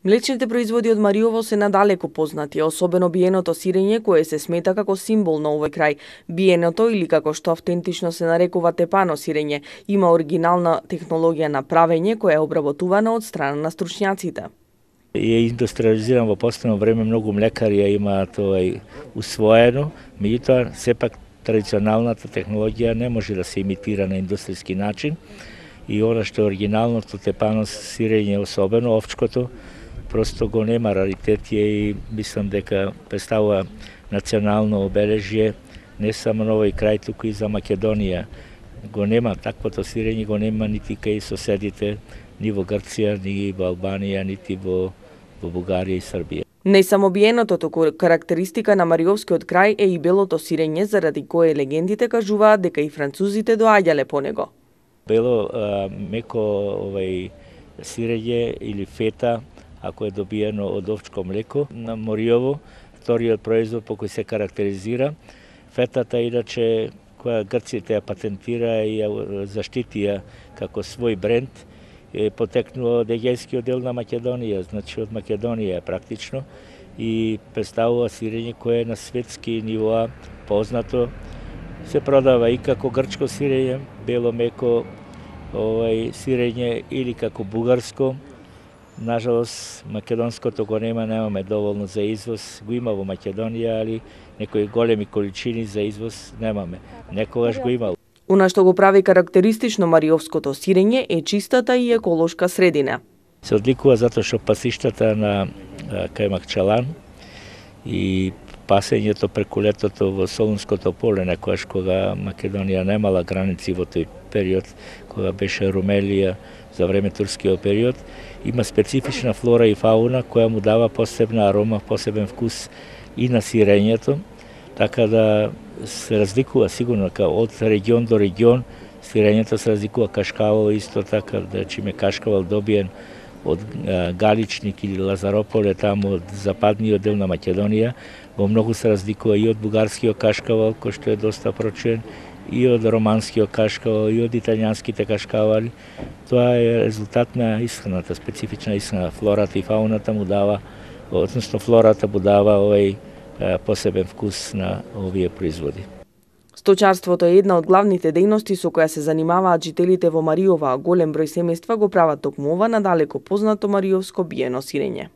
Млечните производи од Мариово се надалеку познати, особено биеното сирење кое се смета како символ на овој крај. Биеното, или како што автентично се нарекува тепано сирење, има оригинална технологија на правење која е обработувана од страна на стручњаците. Е индустриализиран во последно време, многу млекари ја имаат усвоено, меѓутоа сепак традиционалната технологија не може да се имитира на индустријски начин и она што е оригиналното тепано сирење, особено овчкото, просто го нема, раритет е и мислам дека представува национално обележје не само на овој крај, туку и за Македонија. Го нема таквото сирење, го нема нити кај соседите, ни во Грција, ни во Албанија, нити во Бугарија и Србија. Не само биеното, туку карактеристика на Мариовскиот крај е и белото сирење, заради кое легендите кажуваат дека и французите доаѓале по него. Бело меко сирење или фета, ако е добиено од овчко млеко на Мариово, вториот производ по кој се карактеризира. Фетата иначе која грците ја патентира и ја заштитија како свој бренд, е потекнува од егејскиот дел на Македонија, значи од Македонија практично, и представува сирење кое е на светски нивоа познато. Се продава и како грчко сирење, бело меко сирење, или како бугарско. Нажалост, македонското го немаме доволно за извоз, го има во Македонија, али некои големи количини за извоз немаме. Некогаш го имало. Она што го прави карактеристично мариовското сирење е чистата и еколошка средина. Се одликува затоа што пасиштата на Кајмакчалан и пасењето преку летото во Солунското поле, некојаш кога Македонија немала граници во тој период, кога беше Румелија за време турскиот период, има специфична флора и фауна која му дава посебна арома, посебен вкус и на сирењето, така да се разликува сигурно од регион до регион. Сирењето се разликува, кашкавал исто така, да чиме кашкавал добиен од Галичник или Лазарополе, таму од западниот дел на Македонија, во многу се разликува и од бугарскиот кашкавал, кој што е доста прочуен, и од романскиот кашкавал, и од италијанските кашкавали. Тоа е резултат на исхраната, специфична исхрана. Флората и фауната му дава, односно флората му дава овој посебен вкус на овие производи. Сточарството е една од главните дејности со која се занимаваат жителите во Мариово, а голем број семејства го прават токму ова надалеку познато мариовско биено сирење.